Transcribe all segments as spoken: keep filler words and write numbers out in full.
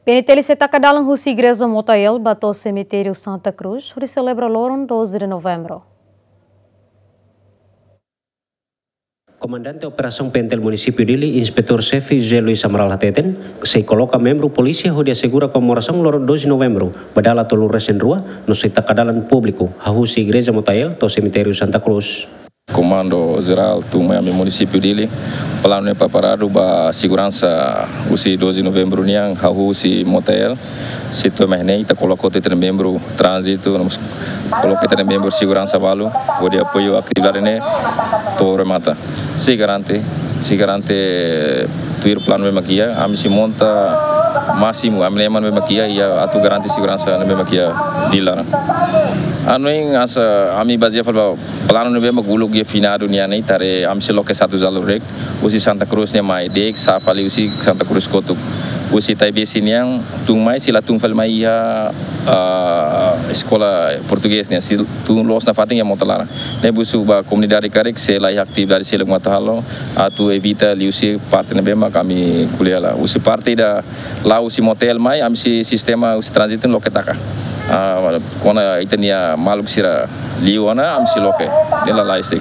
P N T L sei taka dalan husi Igreja Motael ba to'o Semitériu Santa Cruz, hodi selebra loron doze de Novembru. Komandante Operasaun P N T L Munisípiu Dili, Inspetór Xefe José Luis Amaral hateten, sei koloka membru polísia hodi asegura komemorasaun loron doze Novembru, ba dala tolunulu-resin-rua, no sei taka dalan públiku, hahú husi Igreja Motael to'o Semitériu Santa Cruz. Komandu Jerál tun mai ami munisípiu Dili, planu ne'e preparadu ba seguransa husi doze Novembru nian, hahú husi Motael, sei to'o mai ne'e, ita koloka ita-nia membru tránzitu, no mós koloka ita-nia membru seguransa balu, hodi apoiu atividade ne'e to'o remata. Sei garante, sei garante tuir planu ne'ebé mak iha, ami sei monta másimu, ami-nia ema ne'ebé mak iha, atu garante seguransa ne'ebé mak iha Dili laran. Hanoin hanesan ami bazeia fali ba planu ne'ebé mak uluk iha finadu nian ne'e, ita haree ami sei loke satu jalur de'it, husi Santa Cruz ne'e mai de'it, sa'e fali husi Santa Cruz kotuk. Husi Taibesi nian, tun mai, sei la tun fali mai iha, ah, eskola portugés nian, sei tun loos nafatin iha mota laran. Ne'e husu ba komunidade karik, se la iha atividade seluk mak atu halo, atu evita liuhusi parte ne'ebé mak ami ko'alia hela. Husi parte ida la'o husi Motael mai, ami sei sistema husi tránzitu loke taka. Ah, kona ita-nia maluk sira liu ona, ami sei loke. Ne'e lalais de'it.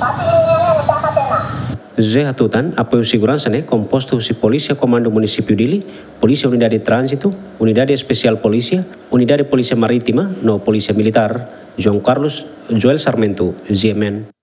José hatutan, apoiu seguransa ne'e kompostu husi Polísia Komandu Munisípiu Dili, Polísia Unidade Tránzitu, Unidade Espesiál Polísia, Unidade Polísia Marítima, no Polísia Militár. João Carlos, Joel Sarmento, G M N.